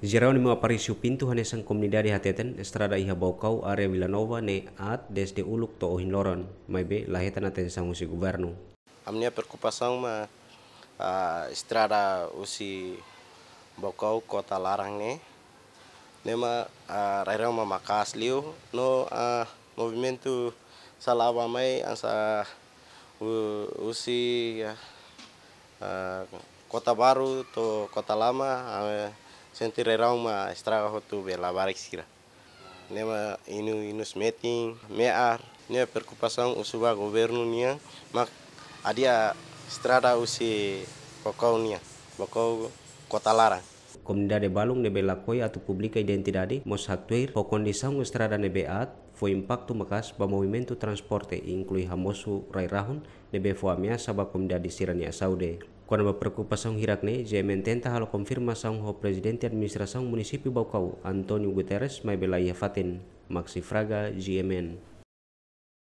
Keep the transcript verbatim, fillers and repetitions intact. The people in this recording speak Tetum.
Jerónimo Aparício Pinto hanesan komunidade hateten, estrada iha Baucau área Vila Nova ne'e aat dezde uluk to'o ohin loron, maibé la hetan atensaun husi governu. Ami-nia preokupasaun mak, ah, estrada husi Baucau Kota Laran ne'e, ne'e mak, ah, rai-rahun mak maka'as liu no, ah, movimentu sala aban-bainrua hanesan hu-, husi, ah, ah, Kota Baru to'o Kota Lama, ah, sente rai-rahun mak estraga hotu be labarik sira. Ne'e mak inu-inus metin, me'ar, ne'e preokupasaun husu ba governu nian, mak hadi'a estrada husi Baucau nian, Baucau Kota Laran. Komunidade balun ne'ebé lakohi atu publika identidade mós haktuir ho kondisaun estrada ne'ebé aat fó impaktu maka'as ba movimentu transporte, inklui hamosu rai-rahun ne'ebé fó ameasa ba komunidade sira-nia saúde. Kona-ba preokupasaun hirak-ne'e, G M N tenta halo konfirmasaun ho Prezidente Administrasaun Munisípiu Baucau, António Guterres, maibé la iha fatin. Maxi Fraga, G M N.